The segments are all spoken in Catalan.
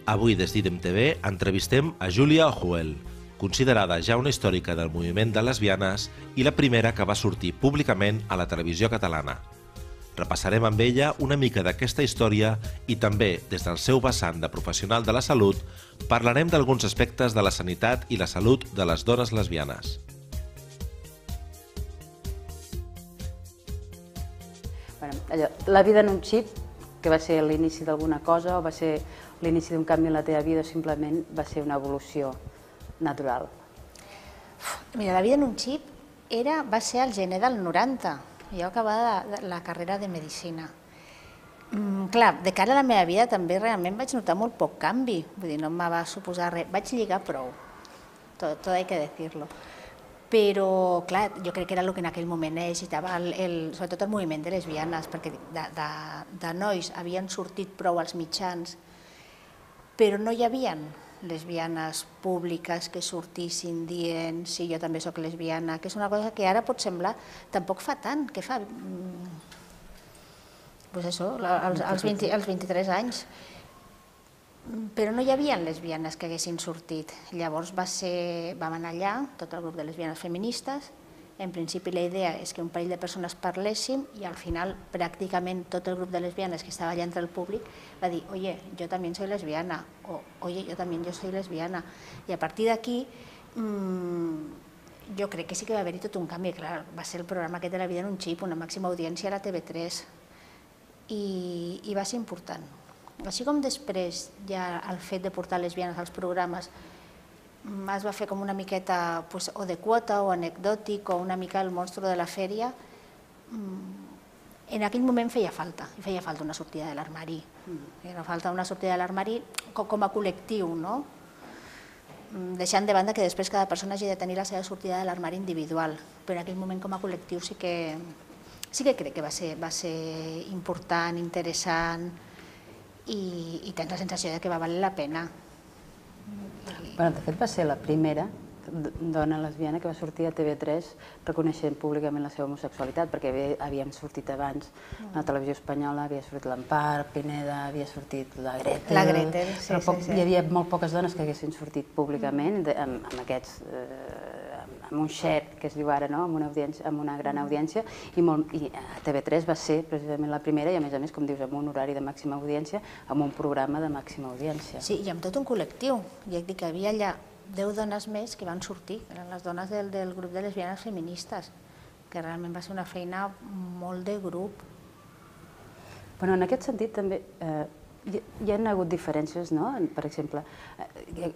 Avui des d'IDEM TV entrevistem a Júlia Ojuel, considerada ja una històrica del moviment de lesbianes i la primera que va sortir públicament a la televisió catalana. Repassarem amb ella una mica d'aquesta història i també, des del seu vessant de professional de la salut, parlarem d'alguns aspectes de la sanitat i la salut de les dones lesbianes. La vida en un xip, que va ser l'inici d'alguna cosa o va ser l'inici d'un canvi en la teva vida o simplement va ser una evolució natural? Mira, la vida en un xip va ser al gener del 90. Jo acabava la carrera de Medicina. Clar, de cara a la meva vida també realment vaig notar molt poc canvi. Vull dir, no em va suposar res. Vaig lligar prou, tot hay que decirlo. Però, clar, jo crec que era el que en aquell moment necessitava, sobretot el moviment de lesbianes, perquè de nois havien sortit prou als mitjans, però no hi havia lesbianes públiques que sortissin dient sí, jo també soc lesbiana, que és una cosa que ara pot semblar, tampoc fa tant, que fa, doncs això, als 23 anys. Però no hi havia lesbianes que haguessin sortit. Llavors vam anar allà, tot el grup de lesbianes feministes. En principi la idea és que un parell de persones parléssim i al final pràcticament tot el grup de lesbianes que estava allà entre el públic va dir oye, yo también soy lesbiana o oye, yo también soy lesbiana. I a partir d'aquí jo crec que sí que va haver-hi tot un canvi. Clar, va ser el programa aquest de La vida en un xip, una màxima audiència a la TV3 i va ser important. Així com després ja el fet de portar lesbianes als programes es va fer com una miqueta o de quota o anecdòtic o una mica el monstru de la fèria, en aquell moment feia falta una sortida de l'armari. Feia falta una sortida de l'armari com a col·lectiu, no? Deixant de banda que després cada persona hagi de tenir la seva sortida de l'armari individual, però en aquell moment com a col·lectiu sí que crec que va ser important, interessant, i tens la sensació que va valer la pena. De fet, va ser la primera dona lesbiana que va sortir a TV3 reconeixent públicament la seva homosexualitat, perquè havíem sortit abans a la televisió espanyola, havia sortit l'Empar, Pineda, havia sortit la Gretel, però hi havia molt poques dones que haguessin sortit públicament amb un xet, que es diu ara, amb una gran audiència, i TV3 va ser precisament la primera i a més, com dius, amb un horari de màxima audiència, amb un programa de màxima audiència. Sí, i amb tot un col·lectiu. Ja et dic que hi havia allà 10 dones més que van sortir, eren les dones del grup de lesbianes feministes, que realment va ser una feina molt de grup. En aquest sentit també hi ha hagut diferències, per exemple,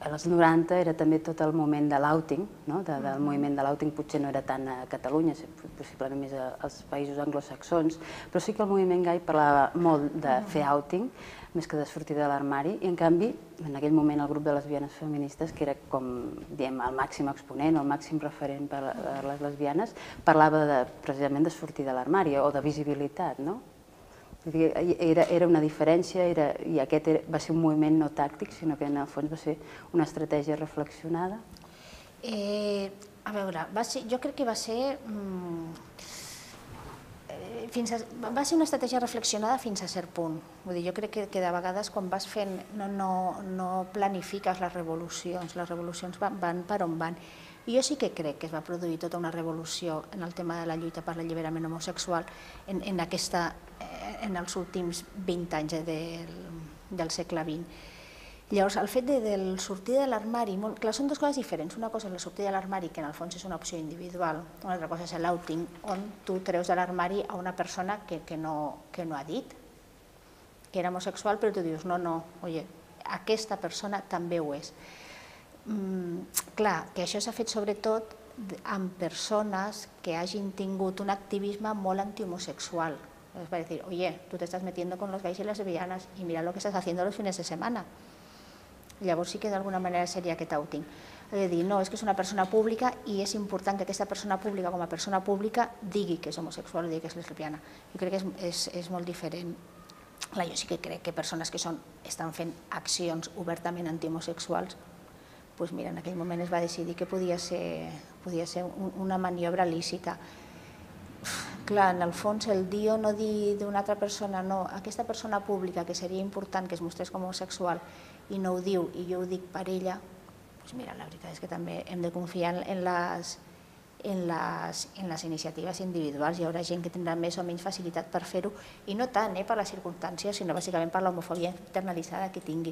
als 90 era també tot el moment de l'outing, del moviment de l'outing potser no era tant a Catalunya, possiblement més als països anglosaxons, però sí que el moviment gai parlava molt de fer outing, més que de sortir de l'armari, i en canvi, en aquell moment el grup de lesbianes feministes, que era com, diem, el màxim exponent, el màxim referent per a les lesbianes, parlava precisament de sortir de l'armari o de visibilitat, no? Era una diferència i aquest va ser un moviment no tàctic, sinó que en el fons va ser una estratègia reflexionada. A veure, jo crec que va ser una estratègia reflexionada fins a cert punt. Jo crec que de vegades quan vas fent no planifiques les revolucions van per on van. I jo sí que crec que es va produir tota una revolució en el tema de la lluita per l'alliberament homosexual en els últims 20 anys del segle XX. Llavors, el fet de sortir de l'armari, clar, són dues coses diferents. Una cosa és la sortida de l'armari, que en el fons és una opció individual. Una altra cosa és l'outing, on tu treus de l'armari a una persona que no ha dit que era homosexual, però tu dius, no, oye, aquesta persona també ho és. Clar, que això s'ha fet sobretot amb persones que hagin tingut un activisme molt antihomosexual. Es va dir, oye, tú te estás metiendo con los gays y las lesbianas y mira lo que estás haciendo los fines de semana. Llavors sí que d'alguna manera seria aquest outing. He de dir, no, és que és una persona pública i és important que aquesta persona pública, com a persona pública, digui que és homosexual o digui que és lesbiana. Jo crec que és molt diferent. Jo sí que crec que persones que estan fent accions obertament antihomosexuals, doncs mira, en aquell moment es va decidir que podia ser una maniobra lícita. Clar, en el fons, el dir o no dir d'una altra persona, no, aquesta persona pública que seria important que es mostrés com homosexual i no ho diu i jo ho dic per ella, doncs mira, la veritat és que també hem de confiar en les iniciatives individuals. Hi haurà gent que tindrà més o menys facilitat per fer-ho, i no tant per les circumstàncies, sinó bàsicament per l'homofòbia internalitzada que tingui.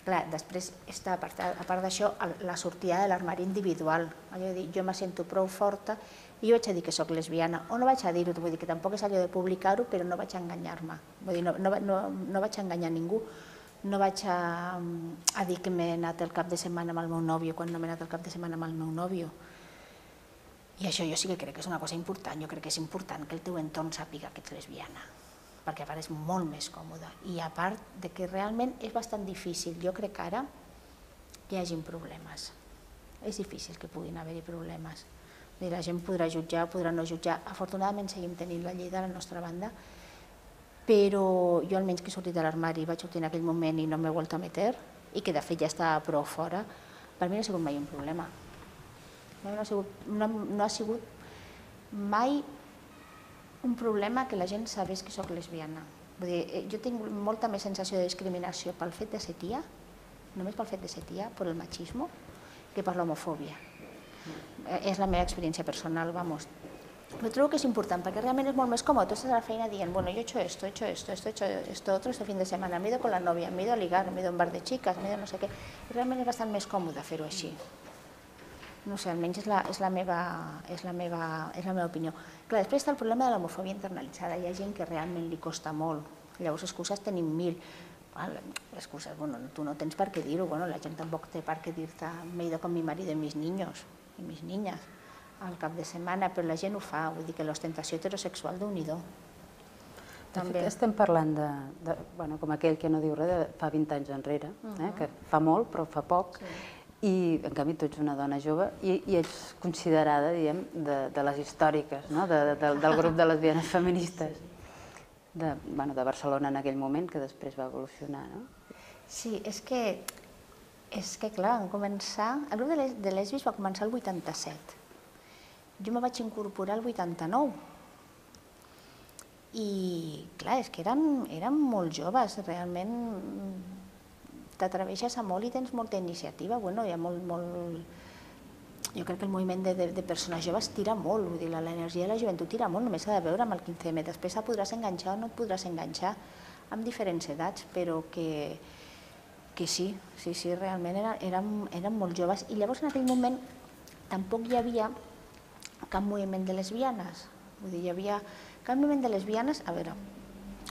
Clar, després està, a part d'això, la sortida de l'armari individual. Allò de dir, jo me sento prou forta i jo vaig a dir que soc lesbiana, o no vaig a dir-ho, vull dir que tampoc és allò de publicar-ho, però no vaig a enganyar-me. Vull dir, no vaig a enganyar ningú, no vaig a dir que m'he anat el cap de setmana amb el meu nòvio quan no m'he anat el cap de setmana amb el meu nòvio. I això jo sí que crec que és una cosa important. Jo crec que és important que el teu entorn sàpiga que ets lesbiana, perquè a part és molt més còmode. I a part de que realment és bastant difícil, jo crec ara, que hi hagin problemes. És difícil que puguin haver-hi problemes. La gent podrà jutjar, podrà no jutjar. Afortunadament seguim tenint la llei de la nostra banda, però jo almenys que he sortit de l'armari, vaig sortir en aquell moment i no m'he vuelto a meter, i que de fet ja estava prou fora, per mi no ha sigut mai un problema. No ha sigut mai un problema que la gent sabés que soc lesbiana. Vull dir, jo tinc molta més sensació de discriminació pel fet de ser tia, només pel fet de ser tia, per el machismo, que per l'homofòbia. És la meva experiència personal, vamos. Però trobo que és important, perquè realment és molt més còmode. Tu estàs a la feina dient, bueno, yo he hecho esto, otro este fin de semana, me he ido con la novia, me he ido a ligar, me he ido a un bar de chicas, me he ido no sé què. Realment és bastant més còmode fer-ho així. No sé, almenys és la meva opinió. Clar, després està el problema de l'homofòbia internalitzada. Hi ha gent que realment li costa molt. Llavors, excuses tenim mil. Excuses, bueno, tu no tens per què dir-ho. La gent tampoc té per què dir-te me he ido con mi marido y mis niños y mis niñas al cap de setmana, però la gent ho fa. Vull dir que l'ostentació heterosexual déu-n'hi-do. Estem parlant com aquell que no diu res de fa 20 anys enrere, que fa molt però fa poc, i en canvi tu ets una dona jove i ets considerada, diguem, de les històriques, del grup de lesbianes feministes de Barcelona en aquell moment, que després va evolucionar. Sí, és que clar, el grup de lesbis va començar el 87. Jo me vaig incorporar el 89. I clar, és que eren molt joves, realment t'atreveixes a molt i tens molta iniciativa. Hi ha molt... Jo crec que el moviment de persones joves tira molt, vull dir, l'energia de la joventut tira molt, només s'ha de veure amb el 15M. Després podràs enganxar o no et podràs enganxar amb diferents edats, però que sí, realment eren molt joves. I llavors en aquell moment tampoc hi havia cap moviment de lesbianes. Vull dir, hi havia cap moviment de lesbianes, a veure,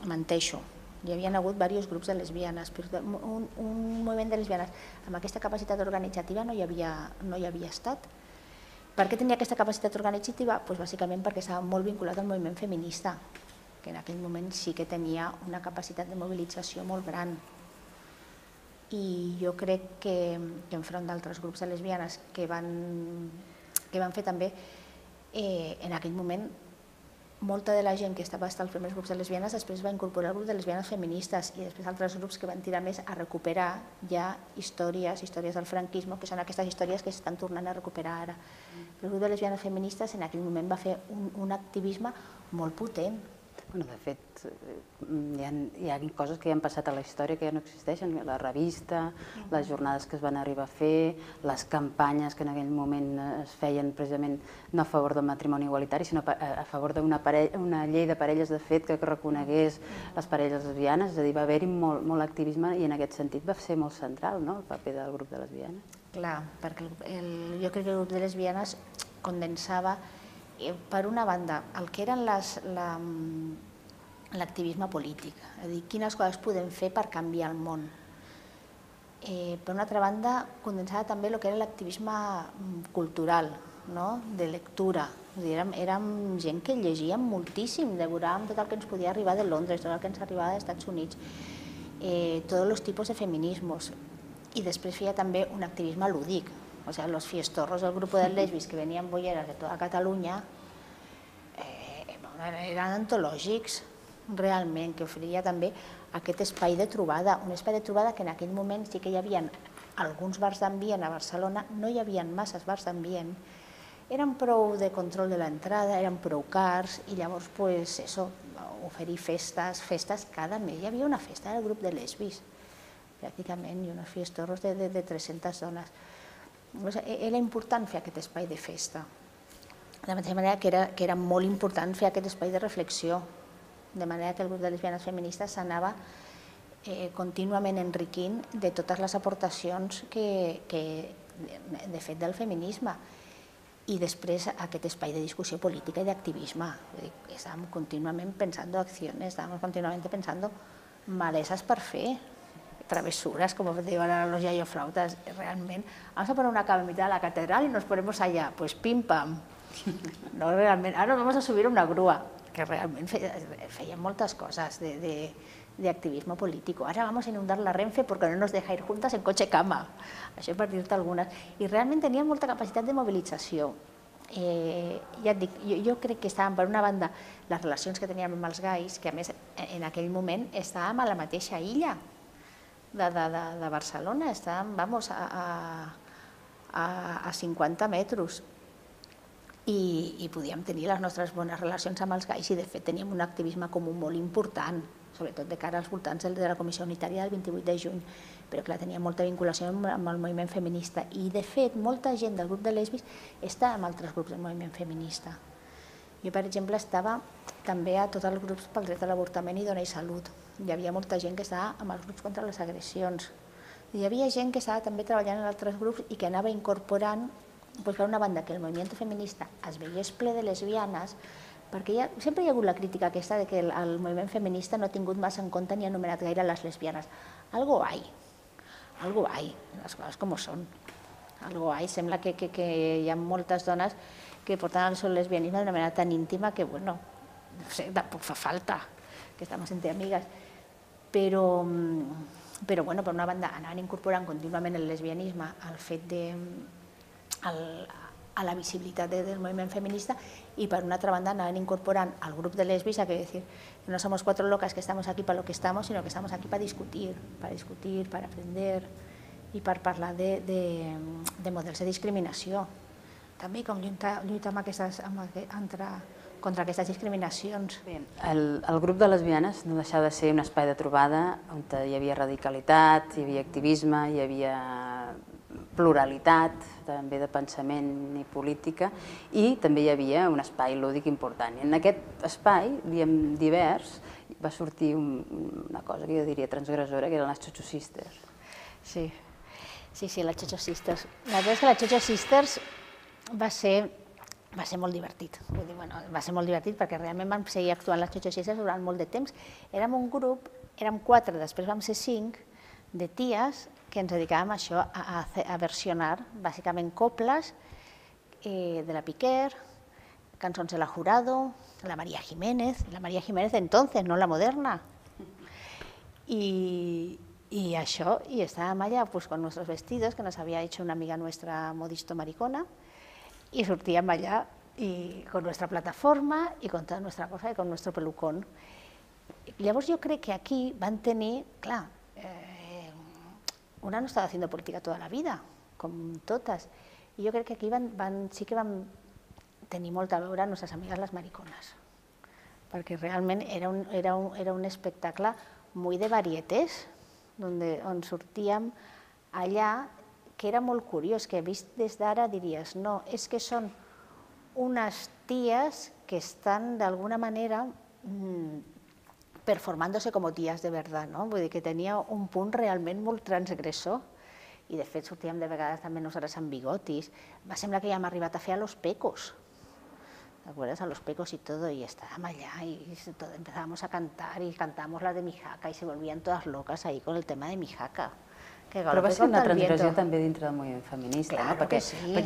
menteixo, hi havia hagut diversos grups de lesbianes, però un moviment de lesbianes amb aquesta capacitat organitzativa no hi havia estat. Per què tenia aquesta capacitat organitzativa? Doncs bàsicament perquè estava molt vinculat al moviment feminista, que en aquell moment sí que tenia una capacitat de mobilització molt gran. I jo crec que enfront d'altres grups de lesbianes que van fer també, en aquell moment, molta de la gent que estava als primers grups de lesbianes després va incorporar el grup de lesbianes feministes i després altres grups que van tirar més a recuperar ja històries del franquisme, que són aquestes històries que s'estan tornant a recuperar ara. El grup de lesbianes feministes en aquell moment va fer un activisme molt potent. De fet, hi ha coses que ja han passat a la història que ja no existeixen, la revista, les jornades que es van arribar a fer, les campanyes que en aquell moment es feien precisament no a favor del matrimoni igualitari, sinó a favor d'una llei de parelles de fet que reconegués les parelles lesbianes, és a dir, va haver-hi molt activisme i en aquest sentit va ser molt central el paper del grup de lesbianes. Clar, perquè jo crec que el grup de lesbianes condensava per una banda, el que eren l'activisme polític, és a dir, quines coses podem fer per canviar el món. Per una altra banda, condensava també el que era l'activisme cultural, de lectura. Érem gent que llegíem moltíssim, devoràvem tot el que ens podia arribar de Londres, tot el que ens arribava dels Estats Units, tots els tipus de feminismes. I després feia també un activisme lúdic. O sea, los fiestorros del grupo de lesbis que venían bolleras de toda Catalunya eren antològics, realment, que oferia també aquest espai de trobada, un espai de trobada que en aquell moment sí que hi havia alguns bars d'ambient a Barcelona, no hi havia masses bars d'ambient, eren prou de control de l'entrada, eren prou cars, i llavors, pues, eso, oferir festes cada mes. Hi havia una festa del grup de lesbis, pràcticament, i uns fiestorros de 300 dones. Era important fer aquest espai de festa. De la mateixa manera que era molt important fer aquest espai de reflexió, de manera que el grup de lesbianes feministes s'anava contínuament enriquint de totes les aportacions de fet del feminisme. I després aquest espai de discussió política i d'activisme. Estàvem contínuament pensant accions, estàvem contínuament pensant malesas per fer, travesuras, como diuen ara los yayoflautas, realment. Vamos a poner una cama en mitad de la catedral y nos ponemos allá, pues pim pam. No, realment, ara vamos a subir una grúa, que realment feien moltes coses de activismo político. Ahora vamos a inundar la Renfe porque no nos deja ir juntas en coche cama. Això per dir-te algunes. I realment tenien molta capacitat de mobilització. Ja et dic, jo crec que estàvem, per una banda, les relacions que teníem amb els gais, que a més en aquell moment estàvem a la mateixa illa de Barcelona, estàvem, vamos, a 50 metres. I podíem tenir les nostres bones relacions amb els gais i, de fet, teníem un activisme comú molt important, sobretot de cara als voltants de la Comissió Unitària del 28 de juny, però clar, tenia molta vinculació amb el moviment feminista i, de fet, molta gent del grup de lesbis està amb altres grups del moviment feminista. Jo, per exemple, estava també a tots els grups pel dret a l'avortament i Dona i Salut. Hi havia molta gent que estava amb els grups contra les agressions. Hi havia gent que estava també treballant en altres grups i que anava incorporant, per una banda, que el moviment feminista es veiés ple de lesbianes, perquè sempre hi ha hagut la crítica aquesta de que el moviment feminista no ha tingut massa en compte ni ha anomenat gaire les lesbianes. Algo hay, les coses com són. Algo hay, sembla que hi ha moltes dones que porten el seu lesbianisme d'una manera tan íntima que, bueno, no sé, tampoc fa falta, que estamos entre amigas. Però, bueno, per una banda, anaven incorporant contínuament el lesbianisme al fet de a la visibilitat del moviment feminista y por una otra banda anaven incorporant al grup de lesbis a que decir, no somos cuatro locas que estamos aquí para lo que estamos, sino que estamos aquí para discutir, para aprender i per parlar de models de discriminació. També com lluitar contra aquestes discriminacions. El grup de lesbianes no deixava de ser un espai de trobada on hi havia radicalitat, hi havia activisme, hi havia pluralitat, també de pensament i política, i també hi havia un espai lúdic important. I en aquest espai, diem divers, va sortir una cosa que jo diria transgressora, que eren les Xocho Sisters. Sí, les Xocho Sisters. La veritat és que les Xocho Sisters va ser molt divertit. Va ser molt divertit perquè realment vam seguir actuant les Xocho Sisters durant molt de temps. Érem un grup, érem 4, després vam ser 5, de ties que ens dedicàvem a això, a versionar bàsicament coples de la Piquer, cançons de la Jurado, la María Jiménez entonces, no la moderna. Y això, y estábamos allá pues con nuestros vestidos que nos había hecho una amiga nuestra modisto maricona, y sortíem allá y con nuestra plataforma y con toda nuestra cosa y con nuestro pelucón. Llavors jo crec que aquí van tenir, clar, una no estava haciendo política toda la vida, com totes, i jo crec que aquí sí que van tenir molt a veure a nostres amigues les maricones, perquè realment era un espectacle muy de varietés, on sortíem allà, que era molt curiós, que vist des d'ara diries, no, és que són unes ties que estan d'alguna manera performándose como tías de verdad, no? Vull dir que tenia un punt realment molt transgressor i de fet sortíem de vegades també nosaltres amb bigotis. Va semblar que ja hem arribat a fer a Los Pecos, ¿te acuerdas? A Los Pecos y todo, y estábamos allá y empezábamos a cantar y cantábamos la de Mijaca y se volvían todas locas ahí con el tema de Mijaca. Però va ser una transgressió també dintre del moviment feminista, perquè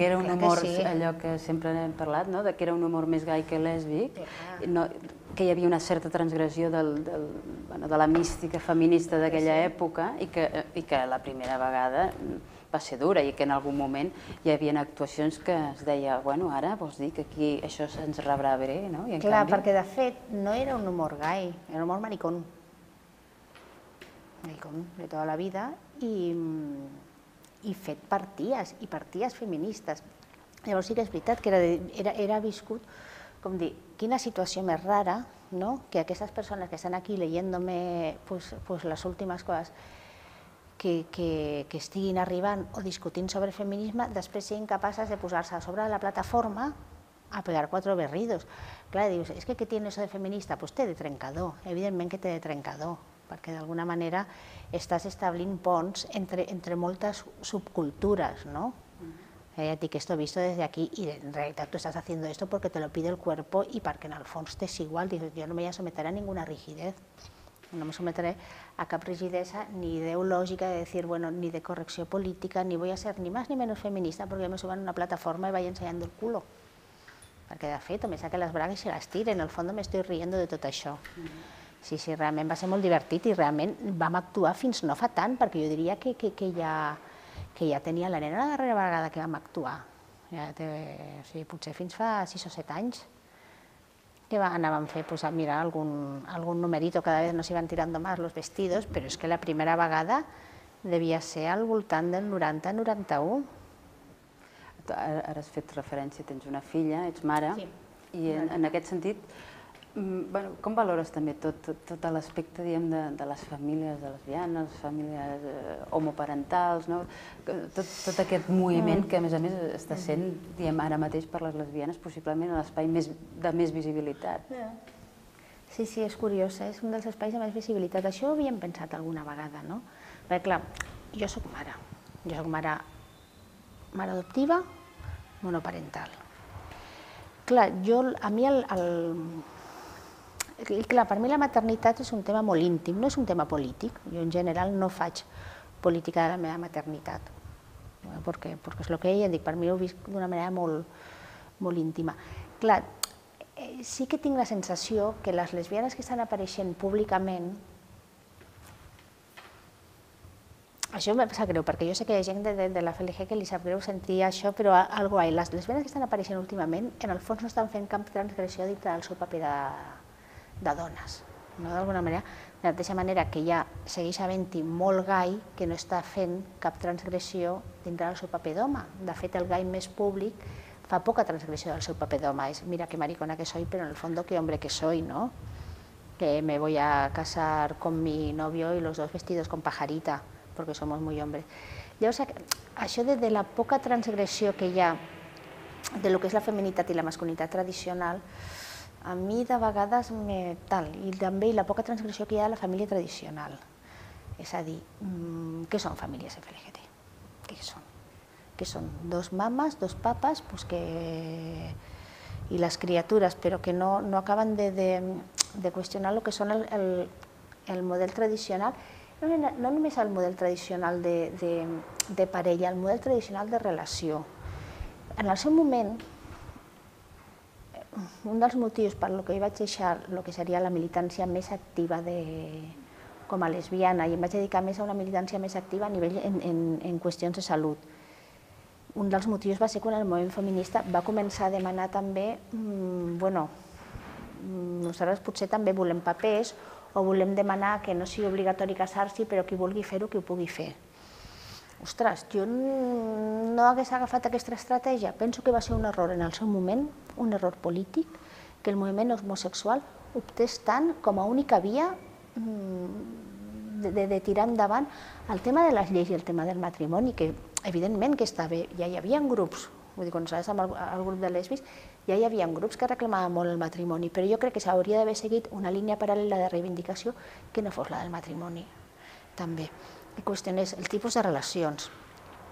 era un humor, allò que sempre hem parlat, que era un humor més gai que lèsbic, que hi havia una certa transgressió de la mística feminista d'aquella època i que la primera vegada va ser dura i que en algun moment hi havia actuacions que es deia, bueno, ara vols dir que aquí això se'ns rebrà bé, no? Clar, perquè de fet no era un humor gai, era un humor maricón de tota la vida i fet per ties feministes. Llavors sí que és veritat que era viscut, com dir, quina situació més rara, que aquestes persones que estan aquí leyéndome les últimes coses que estiguin arribant o discutint sobre feminisme, després siguin capaces de posar-se a sobre de la plataforma a pegar 4 berridos. Clar, dius, és que què tiene eso de feminista? Doncs té de trencador, evidentment que té de trencador, perquè d'alguna manera estàs establint ponts entre moltes subcultures, no? Ya dic, esto visto desde aquí y en realidad tú estás haciendo esto porque te lo pide el cuerpo y porque en el fons t'és igual. Dices, yo no me voy a someter a ninguna rigidez. No me someteré a cap rigidesa ni ideológica de decir, bueno, ni de correcció política, ni voy a ser ni más ni menos feminista porque me subo en una plataforma y vaya ensenyando el culo. Perquè de fet, o me saque les bragues i les tire, en el fons m'estic rient de tot això. Sí, realment va ser molt divertit i realment vam actuar fins no fa tant, perquè jo diria que ja tenia la nena la darrera vegada que vam actuar. Potser fins fa 6 o 7 anys que anàvem a fer, mira, algun numerito, cada vez nos iban tirando más los vestidos, però és que la primera vegada devia ser al voltant del 90-91. Ara has fet referència, tens una filla, ets mare, i en aquest sentit, com valores també tot l'aspecte de les famílies de lesbianes, famílies homoparentals, tot aquest moviment que a més està sent ara mateix per les lesbianes possiblement l'espai de més visibilitat. Sí, és curiós, és un dels espais de més visibilitat. Això ho havíem pensat alguna vegada, no? Perquè clar, jo soc mare adoptiva, monoparental. Clar, a mi per mi la maternitat és un tema molt íntim, no és un tema polític. Jo en general no faig política de la meva maternitat, perquè és el que ella dic, per mi ho visc d'una manera molt íntima. Clar, sí que tinc la sensació que les lesbianes que estan apareixent públicament, això em sap greu, perquè jo sé que hi ha gent de la FLG que li sap greu sentir això, però les lesbianes que estan apareixent últimament, en el fons no estan fent cap transgressió dintre del seu paper de dones. D'alguna manera, de la mateixa manera que ja segueix havent-hi molt gai que no està fent cap transgressió dintre del seu paper d'home. De fet, el gai més públic fa poca transgressió del seu paper d'home. És, mira que maricona que soy, pero en el fondo que hombre que soy, ¿no? Que me voy a casar con mi novio y los dos vestidos con pajarita, porque somos muy hombres. Llavors, això de la poca transgressió que hi ha de lo que és la feminitat i la masculinitat tradicional, a mi de vegades i també la poca transgressió que hi ha de la família tradicional. És a dir, què són famílies FLGT? Què són? Què són? 2 mames, 2 papes i les criatures, però que no acaben de qüestionar el que són el model tradicional, no només el model tradicional de parella, el model tradicional de relació. En el seu moment, un dels motius per què jo vaig deixar el que seria la militància més activa com a lesbiana i em vaig dedicar més a una militància més activa a nivell en qüestions de salut. Un dels motius va ser quan el moviment feminista va començar a demanar també, bueno, nosaltres potser també volem papers o volem demanar que no sigui obligatori casar-s'hi, però qui vulgui fer-ho, que ho pugui fer. Ostres, jo no hagués agafat aquesta estratègia. Penso que va ser un error en el seu moment, un error polític, que el moviment homosexual optés tant com a única via de tirar endavant el tema de les lleis i el tema del matrimoni, que evidentment que està bé, ja hi havia grups, vull dir, quan estaves amb el grup de lesbis, ja hi havia grups que reclamaven molt el matrimoni, però jo crec que s'hauria d'haver seguit una línia paral·lela de reivindicació que no fos la del matrimoni, també. La qüestió és el tipus de relacions.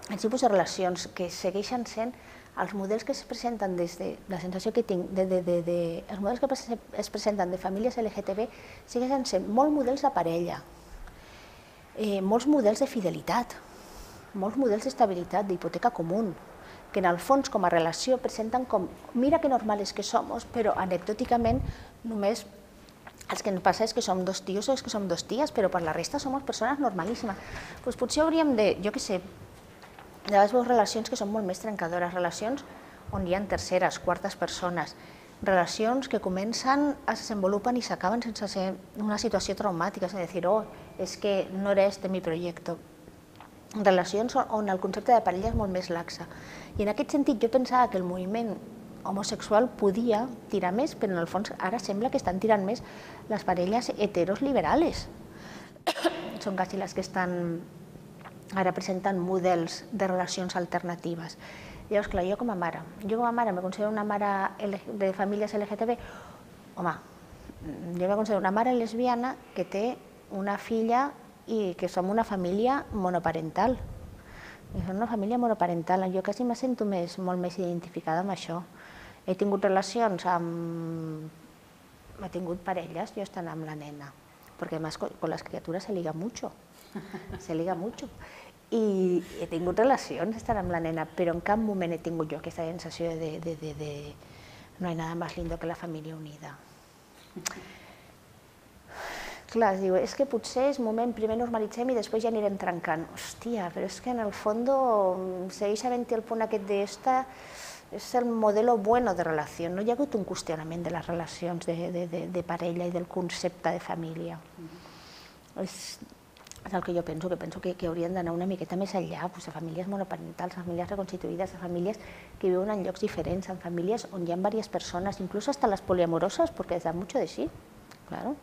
Els tipus de relacions que segueixen sent els models que es presenten des de la sensació que tinc, els models que es presenten de famílies LGTB segueixen sent molts models de parella, molts models de fidelitat, molts models d'estabilitat, d'hipoteca comú, que en el fons com a relació presenten com mira que normales que somos, però anecdòticament només el que ens passa és que som 2 tios o és que som 2 ties, però per la resta som persones normalíssimes. Doncs potser hauríem de, jo què sé, de vegades veus relacions que són molt més trencadores, relacions on hi ha terceres, quartes persones, relacions que comencen, es desenvolupen i s'acaben sense ser una situació traumàtica, és a dir, oh, és que no era este mi proyecto. relacions on el concepte de parella és molt més laxa. I en aquest sentit jo pensava que el moviment homosexual podia tirar més, però en el fons ara sembla que estan tirant més les parelles heteros liberales. Són quasi les que estan ara presentant models de relacions alternatives. Llavors, clar, jo com a mare me considero una mare de famílies LGTB. Home, jo me considero una mare lesbiana que té una filla i que som una família monoparental. Som una família monoparental. Jo quasi me sento molt més identificada amb això. He tingut relacions amb... He tingut parelles, jo estant amb la nena, perquè además con las criaturas se liga mucho. Se liga mucho. I he tingut relacions estant amb la nena, però en cap moment he tingut jo aquesta sensació de no hay nada más lindo que la família unida. Clar, es diu, és que potser és moment, primer normalitzem i després ja anirem trencant. Hòstia, però és que en el fons segueix havent-hi el punt aquest d'esta, és el modelo bueno de relació. No hi ha hagut un qüestionament de les relacions de parella i del concepte de família. És el que jo penso que haurien d'anar una miqueta més enllà, de famílies monoparentals, famílies reconstituïdes, famílies que viuen en llocs diferents, en famílies on hi ha diverses persones, inclús hasta les poliamoroses, perquè da mucho de sí, claro.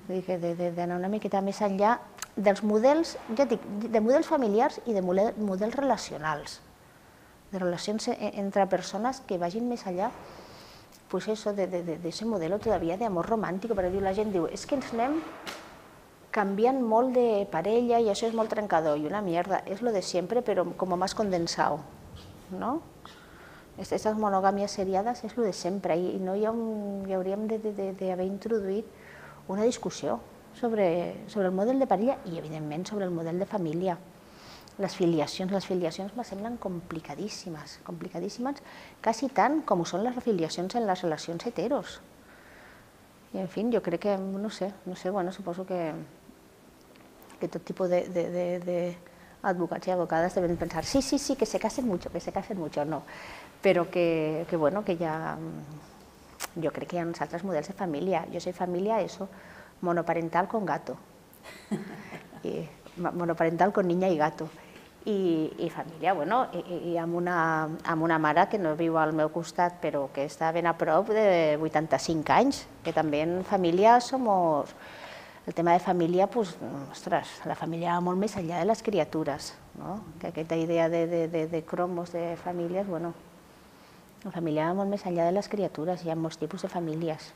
D'anar una miqueta més enllà dels models, ja dic, de models familiars i de models relacionals, de relacions entre persones que vagin més enllà d'aquest model todavía de amor romàntic, perquè la gent diu, és que ens anem canviant molt de parella i això és molt trencador i una mierda, és lo de siempre però como más condensado, ¿no? Estas monogàmies seriades és lo de sempre i no hi hauríem d'haver introduït una discussió sobre el model de parella i, evidentment, sobre el model de família. Les filiacions me semblen complicadíssimes, quasi tant com ho són les filiacions en les relacions heteros. I, en fi, jo crec que, no sé, bueno, suposo que tot tipus d'advocats i advocades deben pensar, sí, que se casen mucho, no, però que, bueno, que ja... Jo crec que hi ha uns altres models de família. Jo soy família, eso, monoparental con gato. Monoparental con niña y gato. I família, bueno, i amb una mare que no viu al meu costat, però que està ben a prop de 85 anys, que també en família som... El tema de família, ostres, la família va molt més enllà de les criatures, no? Que aquesta idea de cromos de famílies, bueno... La família va molt més enllà de les criatures, hi ha molts tipus de famílies.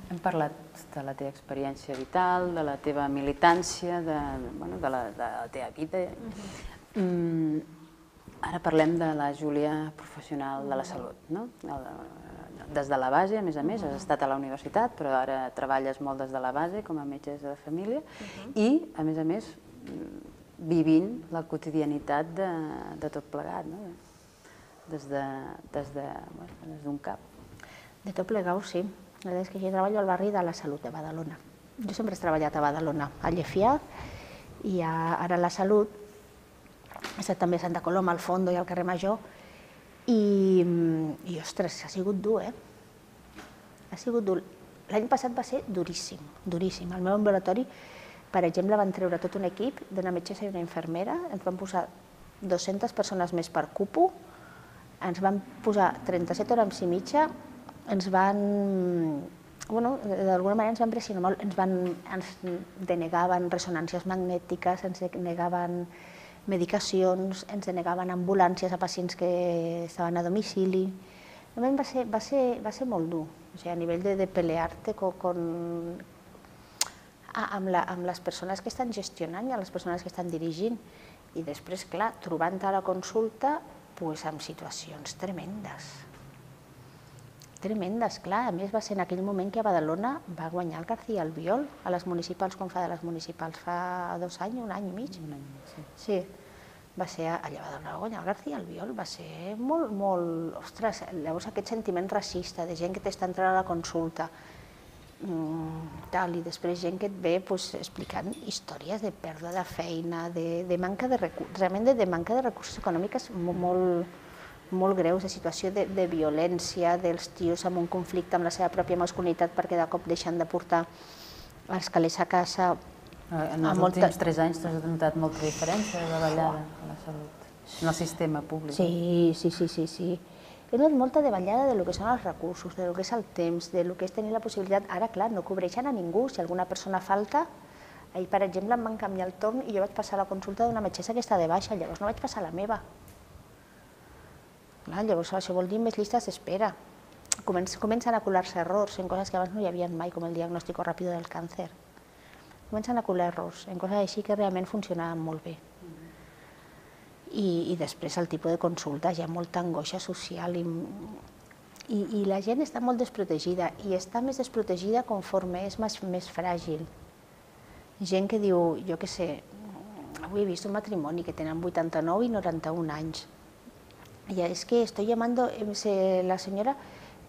Hem parlat de la teva experiència vital, de la teva militància, de la teva vida. Ara parlem de la Júlia professional de la salut, no? Des de la base, a més, has estat a la universitat, però ara treballes molt des de la base com a metgessa de família i, a més, vivint la quotidianitat de tot plegat, no? Des d'un cap. De tot plegat, sí. La veritat és que jo treballo al barri de la Salut de Badalona. Jo sempre he treballat a Badalona, a Llefià, i ara a la Salut. He estat també a Santa Coloma, al Fondo i al carrer Major. I, ostres, ha sigut dur, Ha sigut dur. L'any passat va ser duríssim, duríssim. Al meu ambulatori, per exemple, van treure tot un equip d'una metgessa i una infermera, ens van posar 200 persones més per cupo, ens van posar 37 hores i mitja, ens van... Bueno, d'alguna manera ens van pressionar molt, ens denegaven ressonàncies magnètiques, ens denegaven medicacions, ens denegaven ambulàncies a pacients que estaven a domicili. Va ser molt dur, a nivell de pelear-te amb les persones que estan gestionant i amb les persones que estan dirigint. I després, clar, trobant a la consulta amb situacions tremendes. Tremendes, clar. A més, va ser en aquell moment que a Badalona va guanyar el García Albiol a les municipals, com fa de les municipals fa 2 anys, 1 any i mig. Sí, va ser allà a Badalona, va guanyar el García Albiol, va ser molt... Ostres, llavors aquest sentiment racista de gent que t'està entrant a la consulta i després gent que et ve explicant històries de pèrdua de feina, de manca de recursos, realment de manca de recursos econòmics molt greus, de situació de violència dels tios amb un conflicte amb la seva pròpia masculinitat perquè de cop deixen de portar els calés a casa En els últims 3 anys t'has notat molta diferència de davallada a la salut, en el sistema públic. Sí. He notat molta davallada de lo que són els recursos, de lo que és el temps, de lo que és tenir la possibilitat. Ara, clar, no cobreixen a ningú. Si alguna persona falta, ahir, per exemple, em van canviar el torn i jo vaig passar la consulta d'una metgessa que està de baixa, llavors no vaig passar la meva. Clar, llavors això vol dir més llistes d'espera. Comencen a colar-se errors en coses que abans no hi havia mai, com el diagnòstic ràpid del càncer. Comencen a colar errors en coses així que realment funcionaven molt bé. I després el tipus de consultes, hi ha molta angoixa social i la gent està molt desprotegida i està més desprotegida conforme és més fràgil. Gent que diu, jo què sé, avui he vist un matrimoni que tenen 89 i 91 anys. I és que estoy llamando, la senyora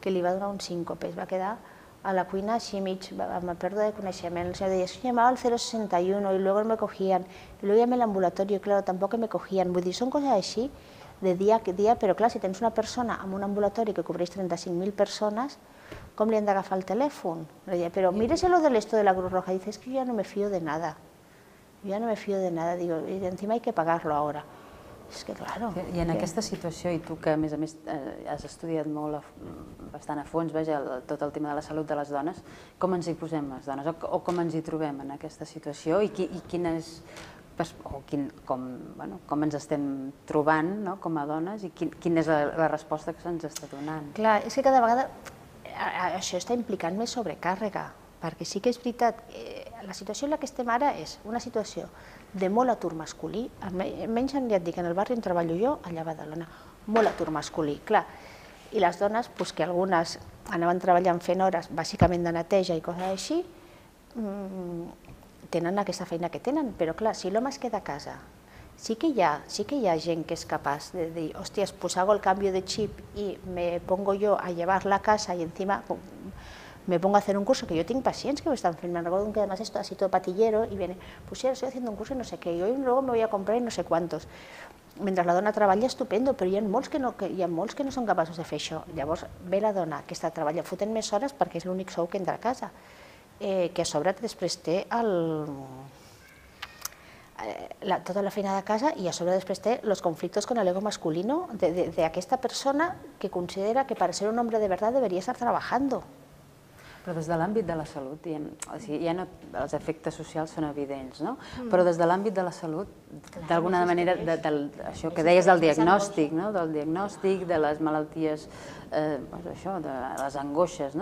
que li va donar un síncope, es va quedar a la cuina així mig, amb pèrdua de coneixement. El senyor deia, es que llamaba al 061 y luego me cogían, y luego llamé al ambulatorio y claro, tampoco me cogían. Vull dir, són coses així de dia a dia, però clar, si tens una persona en un ambulatori que cobreix 35.000 persones, com li han d'agafar el telèfon? Però míreselo de esto de la Cruz Roja. Dice, es que yo ya no me fío de nada. Yo ya no me fío de nada. Digo, y encima hay que pagarlo ahora. És que, claro... I en aquesta situació, i tu que a més has estudiat molt, bastant a fons, tot el tema de la salut de les dones, com ens hi posem les dones o com ens hi trobem en aquesta situació i com ens estem trobant com a dones i quina és la resposta que se'ns està donant? Clar, és que cada vegada això està implicant més sobrecàrrega, perquè sí que és veritat, la situació en la que estem ara és una situació de molt atur masculí, almenys ja et dic, en el barri on treballo jo, allà a Badalona, molt atur masculí, clar, i les dones, que algunes anaven treballant fent hores, bàsicament de neteja i coses així, tenen aquesta feina que tenen, però clar, si l'home es queda a casa, sí que hi ha gent que és capaç de dir, hòsties, pues hago el cambio de chip y me pongo yo a llevarla a casa y encima me pongo a hacer un curso, que yo tengo pacientes que me están filmando, recuerdo que además es así todo patillero y viene, pues sí, estoy haciendo un curso y no sé qué, y hoy luego me voy a comprar y no sé cuántos. Mentre la dona treballa, estupendo, però hi ha molts que no són capaços de fer això. Llavors ve la dona que està treballant, fotent més hores perquè és l'únic sou que entra a casa, que a sobre després té tota la feina de casa i a sobre després té els conflictes con el ego masculino d'aquesta persona que considera que para ser un hombre de verdad debería estar trabajando. Però des de l'àmbit de la salut, els efectes socials són evidents, no? Però des de l'àmbit de la salut, d'alguna manera, això que deies del diagnòstic, de les malalties, de les angoixes,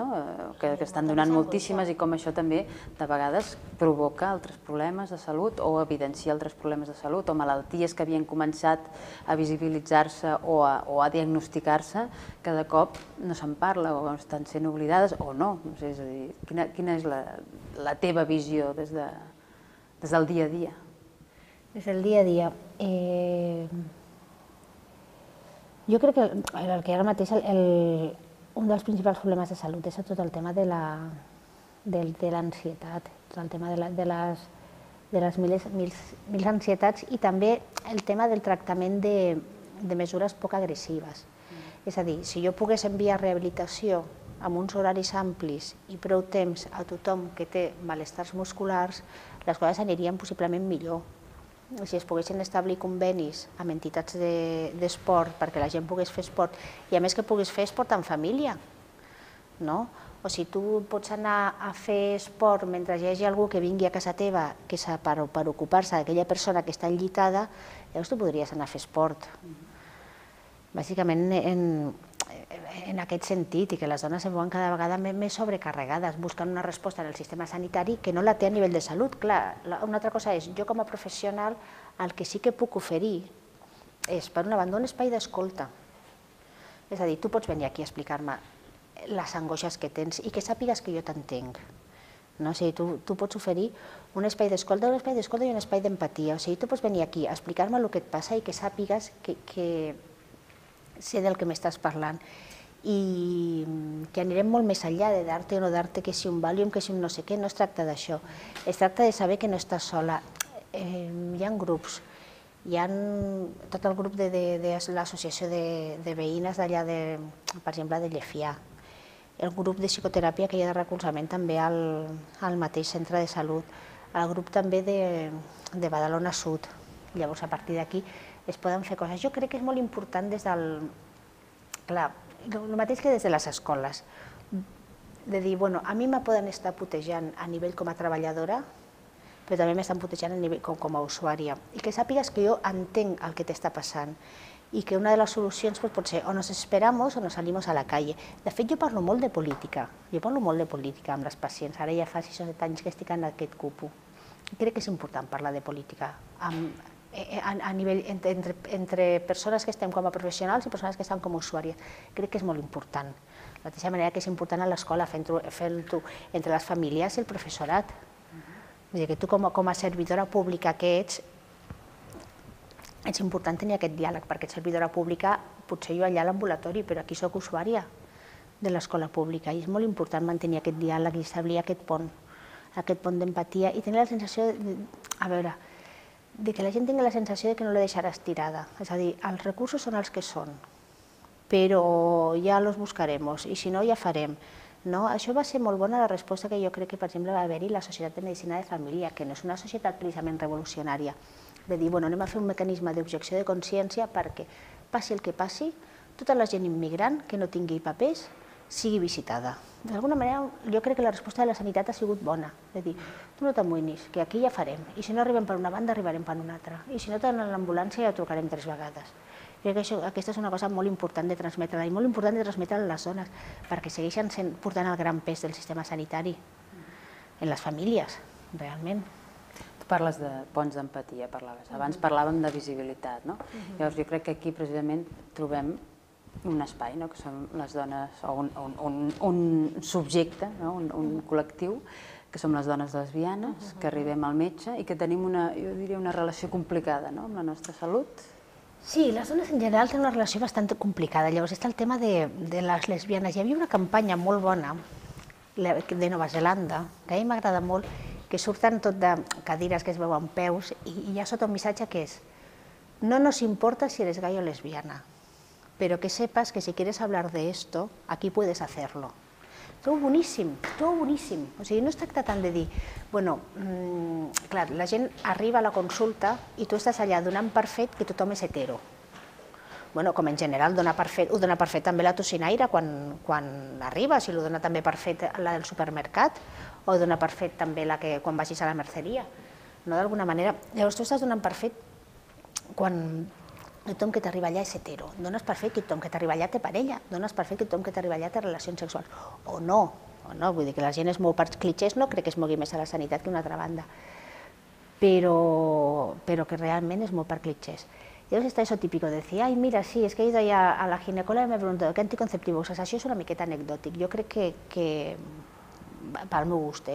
que estan donant moltíssimes i com això també de vegades provoca altres problemes de salut o evidencia altres problemes de salut o malalties que havien començat a visibilitzar-se o a diagnosticar-se que de cop no se'n parla o estan sent oblidades o no. És a dir, quina és la teva visió des del dia a dia? Des del dia a dia. Jo crec que el que ara mateix un dels principals problemes de salut és tot el tema de l'ansietat, tot el tema de les mil ansietats i també el tema del tractament de mesures poc agressives. És a dir, si jo pogués enviar rehabilitació amb uns horaris amplis i prou temps a tothom que té malestars musculars, les coses anirien possiblement millor. Si es poguessin establir convenis amb entitats d'esport perquè la gent pogués fer esport i a més que pogués fer esport en família, no? O si tu pots anar a fer esport mentre hi hagi algú que vingui a casa teva per ocupar-se d'aquella persona que està enllitada, llavors tu podries anar a fer esport. Bàsicament en aquest sentit, i que les dones es veuen cada vegada més sobrecarregades, buscant una resposta en el sistema sanitari que no la té a nivell de salut. Clar, una altra cosa és, jo com a professional, el que sí que puc oferir és, per una banda, un espai d'escolta. És a dir, tu pots venir aquí a explicar-me les angoixes que tens i que sàpigues que jo t'entenc. O sigui, tu pots oferir un espai d'escolta i un espai d'empatia. O sigui, tu pots venir aquí a explicar-me el que et passa i que sàpigues que sé del que m'estàs parlant i que anirem molt més enllà de dar-te o no dar-te, que si un Valium, que si un no sé què, no es tracta d'això. Es tracta de saber que no estàs sola. Hi ha grups, hi ha tot el grup de l'associació de veïnes d'allà, per exemple, de Llefià, el grup de psicoteràpia que hi ha de recolzament també al mateix centre de salut, el grup també de Badalona Sud. Llavors, a partir d'aquí es poden fer coses. Jo crec que és molt important des del... Clar, el mateix que des de les escoles, de dir, bueno, a mi me poden estar putejant a nivell com a treballadora, però també m'estan putejant a nivell com a usuària. I que sàpigues que jo entenc el que t'està passant i que una de les solucions pot ser o nos esperamos o nos salimos a la calle. De fet, jo parlo molt de política. Jo parlo molt de política amb les pacients. Ara ja fa 6 o 7 anys que estic en aquest CUPU. Crec que és important parlar de política a nivell entre persones que estem com a professionals i persones que estan com a usuàries. Crec que és molt important. De la mateixa manera que és important a l'escola fer-ho entre les famílies i el professorat. Vull dir que tu com a servidora pública que ets, és important tenir aquest diàleg, perquè ets servidora pública, potser jo allà a l'ambulatori, però aquí soc usuària de l'escola pública i és molt important mantenir aquest diàleg i establir aquest pont d'empatia i tenir la sensació de que la gent tingui la sensació que no la deixaràs tirada. És a dir, els recursos són els que són, però ja els buscarem i si no ja farem. Això va ser molt bona la resposta que jo crec que, per exemple, va haver-hi la Societat de Medicina de Família, que no és una societat precisament revolucionària, de dir, bueno, anem a fer un mecanisme d'objecció de consciència perquè, passi el que passi, tota la gent immigrant que no tingui papers sigui visitada. D'alguna manera, jo crec que la resposta de la sanitat ha sigut bona, de dir, tu no t'amoïnis, que aquí ja farem, i si no arribem per una banda, arribarem per una altra, i si no tenen l'ambulància ja trucarem 3 vegades. Crec que aquesta és una cosa molt important de transmetre i molt important de transmetre a les dones, perquè segueixen portant el gran pes del sistema sanitari en les famílies, realment. Tu parles de ponts d'empatia, parlaves. Abans parlàvem de visibilitat, no? Llavors jo crec que aquí precisament trobem un espai, que són les dones, o un subjecte, un col·lectiu, que som les dones lesbianes, que arribem al metge i que tenim jo diria, una relació complicada amb la nostra salut. Sí, les dones en general tenen una relació bastant complicada. Llavors està el tema de les lesbianes. Hi havia una campanya molt bona de Nova Zelanda, que a mi m'agrada molt, que surten tot de cadires que es veuen peus i hi ha sota un missatge que és no nos importa si eres gay o lesbiana, pero que sepas que si quieres hablar de esto, aquí puedes hacerlo. Trobo boníssim, trobo boníssim. O sigui, no es tracta tant de dir, bueno, clar, la gent arriba a la consulta i tu estàs allà donant per fet que tothom és hetero. Bueno, com en general ho dona per fet també la tocinaire quan arriba, si ho dona també per fet la del supermercat, o ho dona per fet també la que quan vagis a la merceria. D'alguna manera, llavors tu estàs donant per fet quan tothom que t'arriba allà és hetero, dones per fet que tothom que t'arriba allà té parella, dones per fet que tothom que t'arriba allà té relacions sexuals, o no, vull dir que la gent es mou per clitxers, no crec que es mogui més a la sanitat que una altra banda, però que realment es mou per clitxers. Llavors està això típico de dir, ai mira, sí, es que he ido allá a la ginecóloga y me he preguntado ¿qué anticonceptivo usas? Això és una miqueta anecdòtic, jo crec que pel meu gust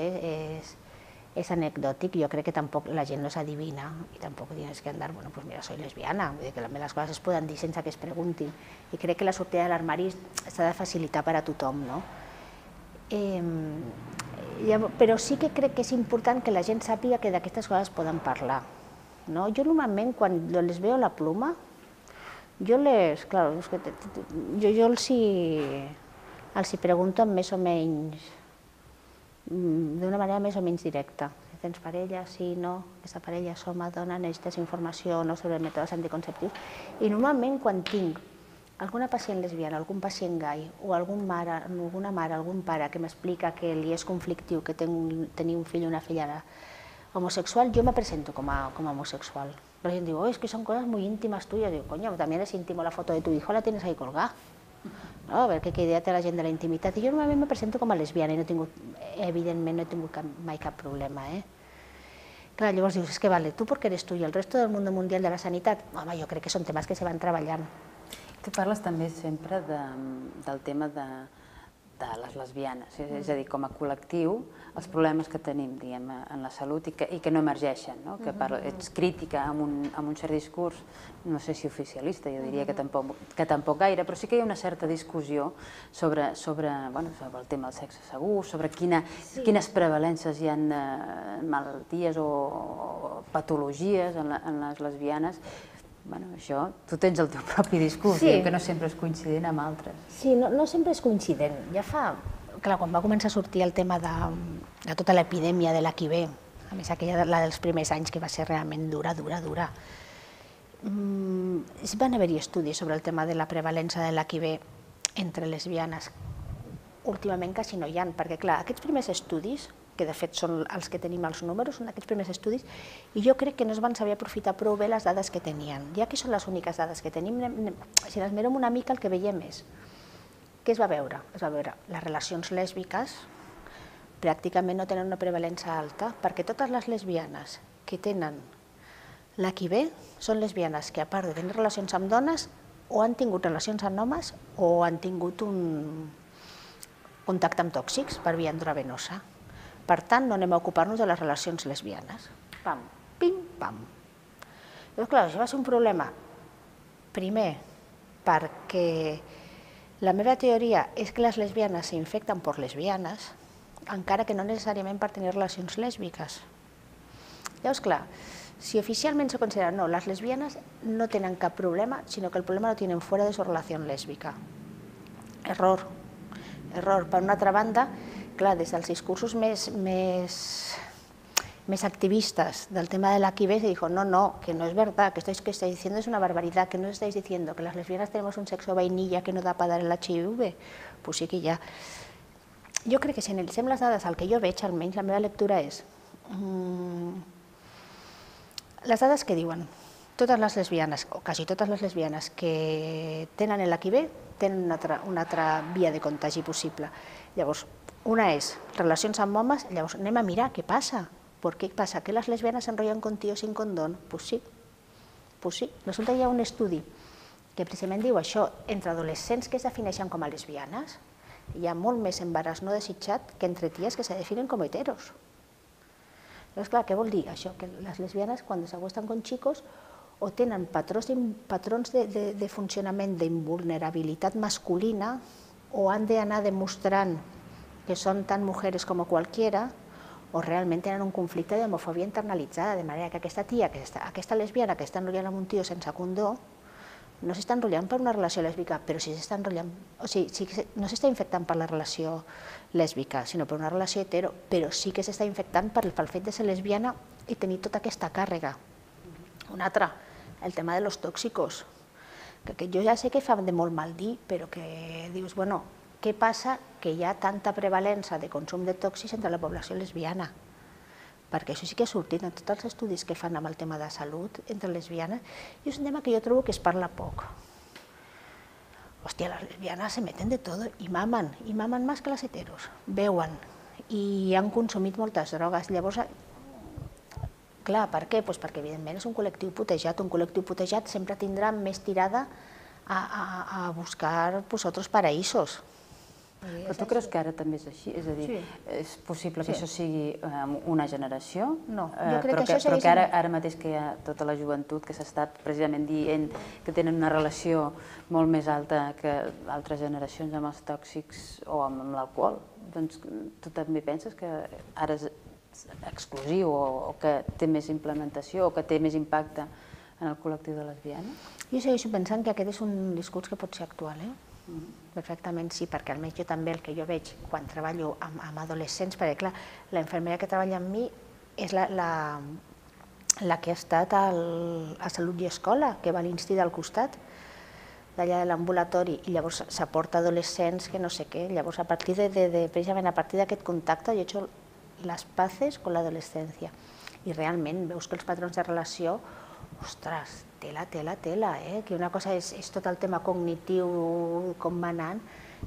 és anecdòtic, jo crec que tampoc la gent no s'adivina i tampoc tienes que andar, bueno, pues mira, soy lesbiana, vull dir que les coses es poden dir sense que es preguntin i crec que la sortida de l'armari s'ha de facilitar per a tothom, no? Però sí que crec que és important que la gent sàpiga que d'aquestes coses poden parlar. Jo normalment quan les veo la pluma, jo els hi pregunto amb més o menys d'una manera més o menys directa. Si tens parella, sí, no, aquesta parella és home, dona, necessites informació o no sobre mètodes anticonceptius. I normalment quan tinc alguna pacient lesbiana, algun pacient gai, o alguna mare, algun pare que m'explica que li és conflictiu que tenir un fill o una filla homosexual, jo me presento com a homosexual. La gent diu, es que son cosas muy íntimas tuyas. Digo, coño, también es íntimo la foto de tu hijo, la tienes ahí colgada. A veure què idea té la gent de la intimitat. I jo normalment me presento com a lesbiana i evidentment no he tingut mai cap problema. Clar, llavors dius, és que vale, tu perquè eres tu i el resto del món mundial de la sanitat, home, jo crec que són temes que se van treballant. Tu parles també sempre del tema de les lesbianes, és a dir, com a col·lectiu, els problemes que tenim en la salut i que no emergeixen, que ets crítica amb un cert discurs, no sé si oficialista, jo diria que tampoc gaire, però sí que hi ha una certa discussió sobre el tema del sexe segur, sobre quines prevalences hi ha de malalties o patologies en les lesbianes. Això, tu tens el teu propi discurs, que no sempre és coincident amb altres. Sí, no sempre és coincident. Ja fa... Clar, quan va començar a sortir el tema de tota l'epidèmia de l'HIV A més, aquella, la dels primers anys, que va ser realment dura. Van haver-hi estudis sobre el tema de la prevalença de l'HIV entre lesbianes. Últimament quasi no hi ha, perquè clar, aquests primers estudis, que de fet són els que tenim els números, són aquests primers estudis, i jo crec que no es van saber aprofitar prou bé les dades que tenien. Ja que són les úniques dades que tenim, si les mirem una mica el que veiem és què es va veure? Es va veure les relacions lèsbiques pràcticament no tenen una prevalença alta, perquè totes les lesbianes que tenen l'HIV són lesbianes que, a part de tenir relacions amb dones, o han tingut relacions amb homes o han tingut un contacte amb tòxics per via endovenosa. Per tant, no anem a ocupar-nos de les relacions lesbianes. Pam, pim, pam. Llavors, clar, això va ser un problema. Primer, perquè la meva teoria és que les lesbianes s'infecten per lesbianes, encara que no necessàriament per tenir relacions lèsbiques. Llavors, clar, si oficialment se considera no, les lesbianes no tenen cap problema, sinó que el problema lo tienen fuera de su relación lésbica. Error. Error. Per una altra banda, clar, des dels discursos més activistas del tema de la HIV se dijo, no, que no es verdad, que esto que estáis diciendo es una barbaridad, que no estáis diciendo que las lesbianas tenemos un sexo vainilla que no da para dar el HIV. Pues sí que ja. Jo crec que si analitzem les dades, el que jo veig, almenys la meva lectura és les dades que diuen totes les lesbianes, o quasi totes les lesbianes que tenen l'HIV tenen una altra via de contagi possible. Llavors, una és relacions amb homes, llavors anem a mirar què passa. ¿Por qué pasa? ¿Que las lesbianas se enrollan con tíos sin condón? Pues sí. Resulta que hi ha un estudi que precisament diu això, entre adolescents que es defineixen com a lesbianes, hi ha molt més embaràs no desitjat que entre ties que se definen com heteros. Llavors, clar, què vol dir això? Que les lesbianes, quan s'acuesten con chicos, o tenen patrons de funcionament d'invulnerabilitat masculina, o han d'anar demostrant que són tan mujeres com cualquiera, o realment tenen un conflicte d'homofòbia internalitzada, de manera que aquesta tia, aquesta lesbiana que està enrotllant amb un tio sense condó, no s'està enrotllant per una relació lèsbica, però sí s'està enrotllant, o sigui, no s'està infectant per la relació lèsbica, sinó per una relació hetero, però sí que s'està infectant pel fet de ser lesbiana i tenir tota aquesta càrrega. Una altra, el tema de los tóxicos, que jo ja sé que fa de molt mal dir, però que dius, bueno, què passa que hi ha tanta prevalença de consum de tòxics entre la població lesbiana? Perquè això sí que ha sortit en tots els estudis que fan amb el tema de salut entre lesbianes, i és un tema que jo trobo que es parla poc. Hòstia, les lesbianes se meten de todo i mamen més que les heteros, beuen i han consumit moltes drogues. Llavors, clar, per què? Perquè evidentment és un col·lectiu putejat sempre tindrà més tirada a buscar otros paraísos. Però tu creus que ara també és així? És a dir, és possible que això sigui una generació? No, jo crec que això però que ara mateix que hi ha tota la joventut que s'ha estat precisament dient que tenen una relació molt més alta que altres generacions amb els tòxics o amb l'alcohol, doncs tu també penses que ara és exclusiu o que té més implementació o que té més impacte en el col·lectiu de lesbianes? Jo segueixo pensant que aquest és un discurs que pot ser actual, perfectament sí, perquè almenys jo també el que jo veig quan treballo amb adolescents, perquè clar, la infermera que treballa amb mi és la que ha estat a Salut i Escola, que va a l'Insti del costat, d'allà de l'ambulatori, i llavors s'aporta adolescents que no sé què, llavors precisament a partir d'aquest contacte jo he hecho las paces con la adolescencia, i realment veus que els patrons de relació, ostres, tela, que una cosa és tot el tema cognitiu, com va anant,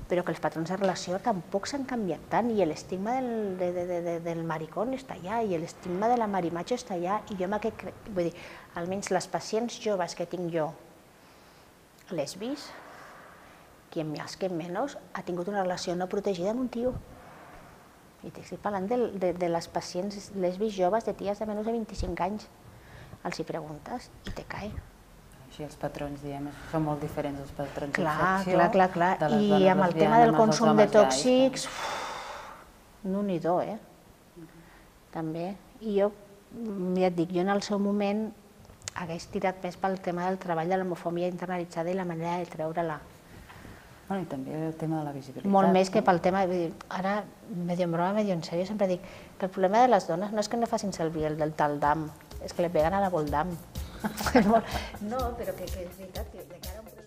però que els patrons de relació tampoc s'han canviat tant, i l'estigma del maricón està allà, i l'estigma de la marimacho està allà, i jo vull dir, almenys les pacients joves que tinc jo, lesbis, quien más, quien menos, ha tingut una relació no protegida amb un tio. I t'estic parlant de les pacients lesbis joves, de ties de menys de 25 anys. Els hi preguntes i te cae. Així els patrons, diguem, són molt diferents dels patrons d'infecció. Clar. I amb el tema del consum de tòxics, no-n'hi-do, també. I jo, ja et dic, jo en el seu moment hagués tirat més pel tema del treball de l'homofòbia internalitzada i la manera de treure-la. Bueno, i també el tema de la visibilitat. Molt més que pel tema, ara, medio en broma, medio en sèrio, sempre dic que el problema de les dones no és que no facin servir el del tal dam, és que le peguen a la Voldam. No, però que és veritat que de cara a un